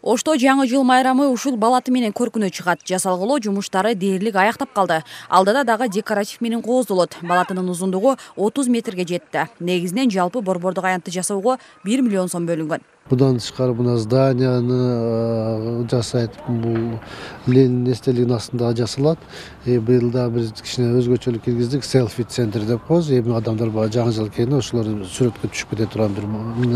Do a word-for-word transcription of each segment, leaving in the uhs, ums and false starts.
Ошто жаңы жыл майрамы ушул балаты менен көркүнө чыгат. Жасалгылоо жумуштары дээрлик аяктап калды. Алдыда дагы декоратив менен кооздолот. Балатынын узундугу отуз метрге жетти. Негизинен жалпы борбордук аянтты жасоого бир миллион сом бөлүнгөн. Будан тышкары мына зданияны жасайт, бул Ленин эстелигинин астында жасалат. Быйыл да биз кичине өзгөчөлүк киргиздик, селфи центр деп коебуз. Эми адамдар баягы жаңы жыл келгенде ошолор сүрөткө түшүп кете турган бир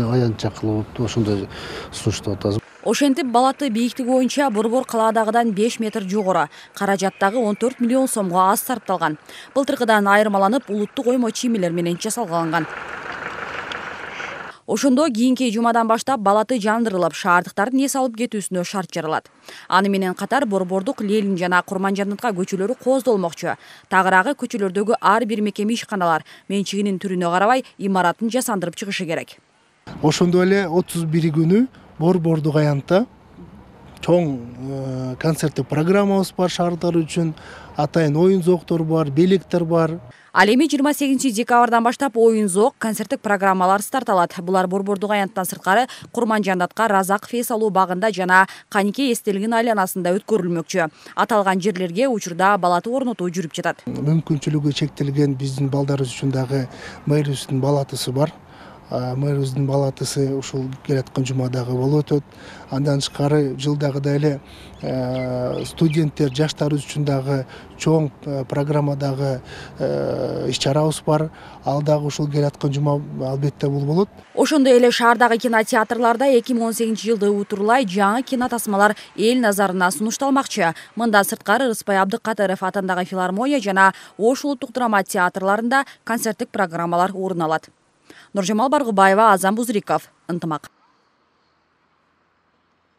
аянтча кылып ошондой сунуштап атабыз. Ошентип балаты бийиктиги боюнча борбор калаадагыдан беш метр жогору, каражаттагы он төрт миллион сомго аз сарпталган. Былтыркыдан айырмаланып, улуттук оймо чиймелер менен жасалган. Ошондо кийинки жумадан баштап балаты жандырылып, шаардыктардын эс алып кетүүсүнө шарт жаралат. Аны менен катар борбордук Ленин жана Курманжандытка көчөлөрү кооздолмокчу. Тагыраагы көчөлөрдөгү ар бир мекеме ишканалар менчигинин түрүнө карабай имаратын жасандырып чыгышы керек. Ошондой эле отуз бир күнү борбордук аянтта чоң концерттик программабыз бар, шаардыктар үчүн атайын оюн зооктор бар, белектер бар. Ал эми жыйырма сегизинчи декабрдан баштап оюн зоок, концерттик программалар старт алат. Булар борбордук аянттан сырткары Курманжандатка Разаков эс алуу багында жана Каникей эстелигинин айланасында өткөрүлмөкчү. Аталган жерлерге учурда балаты орнотуу жүрүп жатат. Мүмкүнчүлүгү чектелген биздин балдарыбыз үчүн дагы мэрибиздин балатысы бар. Мэрибиздин балатысы ушул келаткан жумадагы болуп өтөт. Андан тышкары жылдагыдай эле студенттер, жаштарыбыз үчүн дагы чоң программадагы иш-чарабыз бар. Ал дагы ушул келаткан жума албетте бул болот. Ошондой эле шаардагы кинотеатрларда эки миң он сегизинчи жылды утурлай жаңы кинотасмалар эл назарына сунушталмакчы. Мындан сырткары Рыспай Абдыкадыров атындагы филармония жана Ош улуттук драма театрларында концерттик программалар орун алат. Нуржамал Баргыбаева, Азам Бузриков, Ынтымак.